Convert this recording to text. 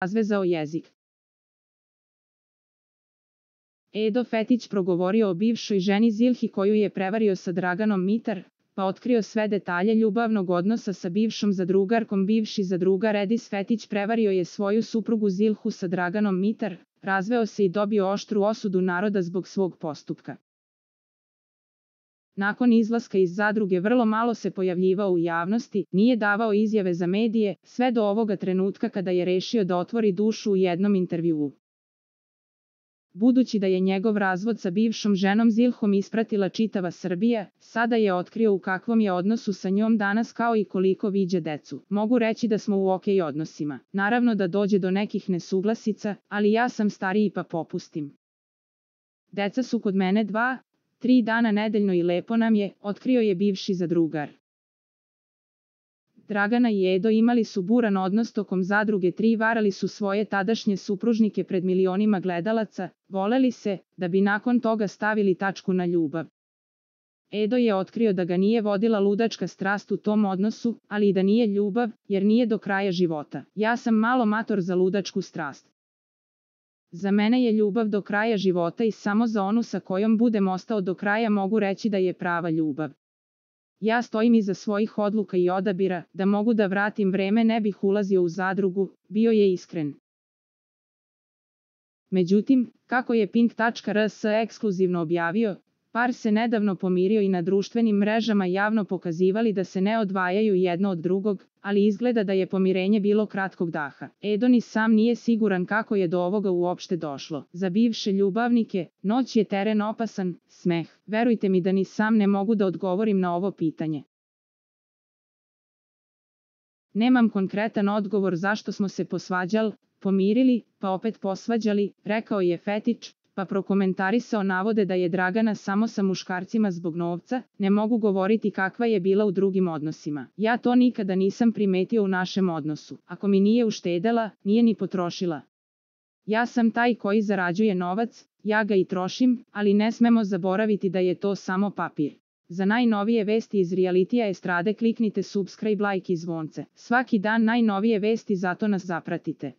razvezao jezik. Edo Fetić progovorio o bivšoj ženi Zilhi koju je prevario sa Draganom Mitar, pa otkrio sve detalje ljubavnog odnosa sa bivšom zadrugarkom. Bivši zadrugar Edis Fetić prevario je svoju suprugu Zilhu sa Draganom Mitar, razveo se i dobio oštru osudu naroda zbog svog postupka. Nakon izlaska iz zadruge vrlo malo se pojavljivao u javnosti, nije davao izjave za medije, sve do ovoga trenutka kada je rešio da otvori dušu u jednom intervjuu. Budući da je njegov razvod sa bivšom ženom Zilhom ispratila čitava Srbija, sada je otkrio u kakvom je odnosu sa njom danas kao i koliko viđa decu. Mogu reći da smo u okej odnosima. Naravno da dođe do nekih nesuglasica, ali ja sam stariji pa popustim. Deca su kod mene 2-3 dana nedeljno i lepo nam je, otkrio je bivši zadrugar. Dragana i Edo imali su buran odnos tokom zadruge 3, varali su svoje tadašnje supružnike pred milionima gledalaca, voleli se, da bi nakon toga stavili tačku na ljubav. Edo je otkrio da ga nije vodila ludačka strast u tom odnosu, ali i da nije ljubav, jer nije do kraja života. Ja sam malo mator za ludačku strast. Za mene je ljubav do kraja života i samo za onu sa kojom budem ostao do kraja mogu reći da je prava ljubav. Ja stojim iza svojih odluka i odabira, da mogu da vratim vreme ne bih ulazio u zadrugu, bio je iskren. Međutim, kako je Pink.rs ekskluzivno objavio, par se nedavno pomirio i na društvenim mrežama javno pokazivali da se ne odvajaju jedno od drugog, ali izgleda da je pomirenje bilo kratkog daha. Edo ni sam nije siguran kako je do ovoga uopšte došlo. Za bivše ljubavnike, noć je teren opasan, smeh. Verujte mi da ni sam ne mogu da odgovorim na ovo pitanje. Nemam konkretan odgovor zašto smo se posvađali, pomirili, pa opet posvađali, rekao je Fetić, pa prokomentarisao navode da je Dragana samo sa muškarcima zbog novca, ne mogu govoriti kakva je bila u drugim odnosima. Ja to nikada nisam primetio u našem odnosu. Ako mi nije uštedela, nije ni potrošila. Ja sam taj koji zarađuje novac, ja ga i trošim, ali ne smemo zaboraviti da je to samo papir. Za najnovije vesti iz realitija estrade kliknite subscribe, like i zvonce. Svaki dan najnovije vesti, zato nas zapratite.